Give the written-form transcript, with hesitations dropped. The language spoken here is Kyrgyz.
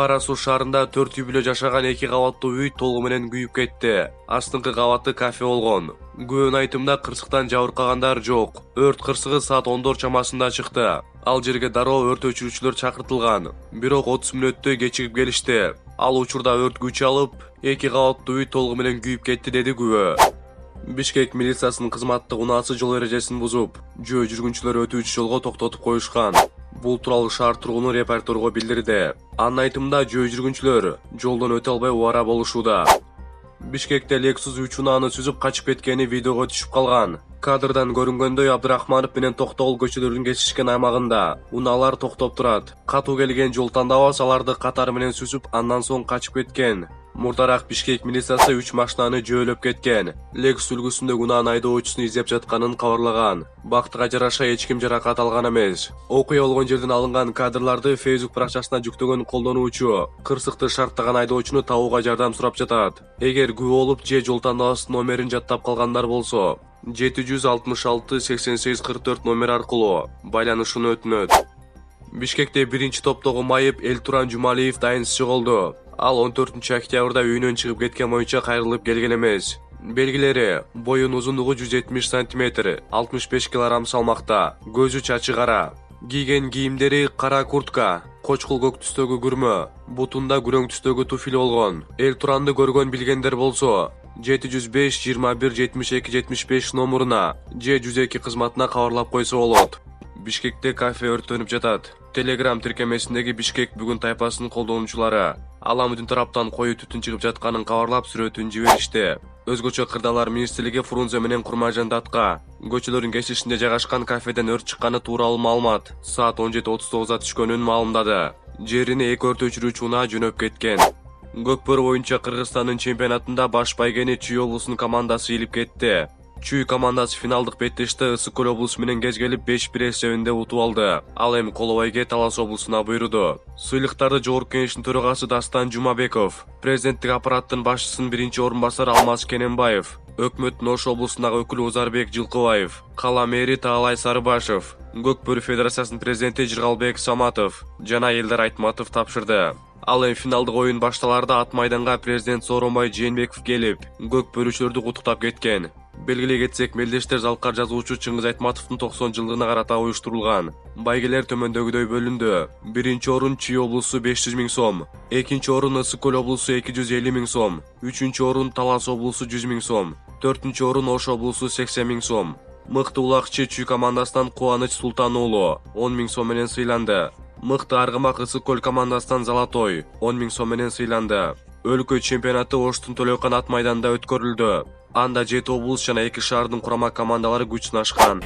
Кара Суу шаарында 4 үй бүлө жашаган 2 кабаттуу үй толугу менен күйүп кетти. Астыңкы кабаты кафе болгон. Күбөнүн айтымында кырсыктан жабыркагандар жок. Өрт кырсыгы саат 10 чамасында чыкты. Ал жерге дароо өрт өчүрүүчүлөр чакыртылган. Бирок 30 мүнөттөй кечигип келишти. Ал учурда өрт күч алып, 2 кабаттуу үй толугу менен күйүп кетти, деди күбө. Бишкек милициясынын кызматтык унаасы жол эрежесин бузуп, жөө жүргүнчүлөр өтүүчү жолго токтотуп коюшкан. Бул тууралуу шаар тургуну репортерго билдирди. Анын айтымында жөө жүргүнчүлөр жолдон өтө албай убара болушууда. Бишкекте Lexus 3 унааны сүзүп качып кеткени видеого түшүп калган. Кадрдан көрүнгөндөй Абдрахманов менен Токтогул көчөлөрүн кесишкен аймагында унаалар токтоп турат. Катуу келген жол тандабас аларды катары менен сүзүп, андан соң качып кеткен. Мурдараак Бишкек милициясы 3 машинаны жөөлөп кеткен. Lexus үлгүсүндөгү унаанын айдоочусун издеп жатканын кабарлаган. Бактыга жараша эч ким жаракат алган эмес. Окуя болгон жерден алынган кадрларды Facebook баракчасына жүктөгөн колдонуучу кырсыкты шарттаган айдоочуну табууга жардам сурап жатат. Эгер күбө болуп же жол тандабасынын номерин жаттап калгандар болсо, 766 88 44 номер аркылуу байланышууну өтүнөт. Бишкекте биринчи топтогу майып Элтуран Жумалиев дайынсыз жоголду. Ал 14 октябрда үйүнөн чыгып кеткен боюнча кайрылып келген эмес. Белгилери: боюнун узундугу 170 см, 65 кг салмакта, көзү чачы кара. Кийген кийимдери кара куртка, кочкул көк түстөгү күрмө, бутунда күрөң түстөгү туфли болгон. Элтуранды көргөн билгендер болсо 705 21 72 75 номуруна же 102 кызматына кабарлап койсо болот. Бишкекте кафе өрттөнүп жатат. Telegram тиркемесиндеги Бишкек бүгүн тайпасынын колдонуучулары Аламудин тараптан коюу түтүн чыгып жатканын кабарлап сүрөтүн жиберишти. Өзгөчө Кырдаалар министрлиги Фрунзе менен Курмайжан Датка көчөлөрүн кесишинде жайгашкан кафеден өрт чыкканы тууралуу маалымат саат 17:39 түшкөнүн маалымдады. Жерине 2 өрт өчүрүүчү унаа жөнөп кеткен. Көкбөрү боюнча Кыргызстандын чемпионатында баш байгени Чүй облусунун командасы ийилип кетти. Чүй командасы финалдык беттеште Ысык Көл облусу менен кезгелип 5-1 эсебинде утуп алды. Ал эми Колобайге Талас облусуна буйруду. Сыйлыктарды Жогорку Кеңештин төрагасы Дастан Жумабеков, президенттик аппараттын башчысынын биринчи орун басары Алмаз Кененбаев, өкмөттүн Ош облусундагы өкүлү Узарбек Жылкыбаев, кала мэри Таалай Сарыбашев, Көкбөрү федерациясынын президенти Жыргалбек Саматов жана Элдар Айтматов тапшырды. Ал эми финалдык оюн башталарда ат майданга президент Сооронбай Жээнбеков келип, көкбөрүчүлөрдү куттуктап кеткен. Белгилей кетсек, мелдештер залкар жазуучу Чыңгыз Айтматовдун 90 жылдыгына карата уюштурулган. Байгелер төмөндөгүдөй бөлүндү. Биринчи орун Чүй облусу 500 000 сом, экинчи орун Ысык Көл облусу 250 000 сом, үчүнчү орун Талас облусу 100 000 сом, төртүнчү орун Ош облусу 80 000 сом. Мыкты улакчы Чүй командасынан Кубаныч Султан уулу 10 000 сом менен сыйланды. Мыкты аргымак Ысык Көл командасынан Залатой 10 000 сом менен сыйланды. Өлкө чемпионаты Оштун Төлөкан ат майданында өткөрүлдү. Анда 7 облус жана 2 шаардын курама командалары күч сынашкан.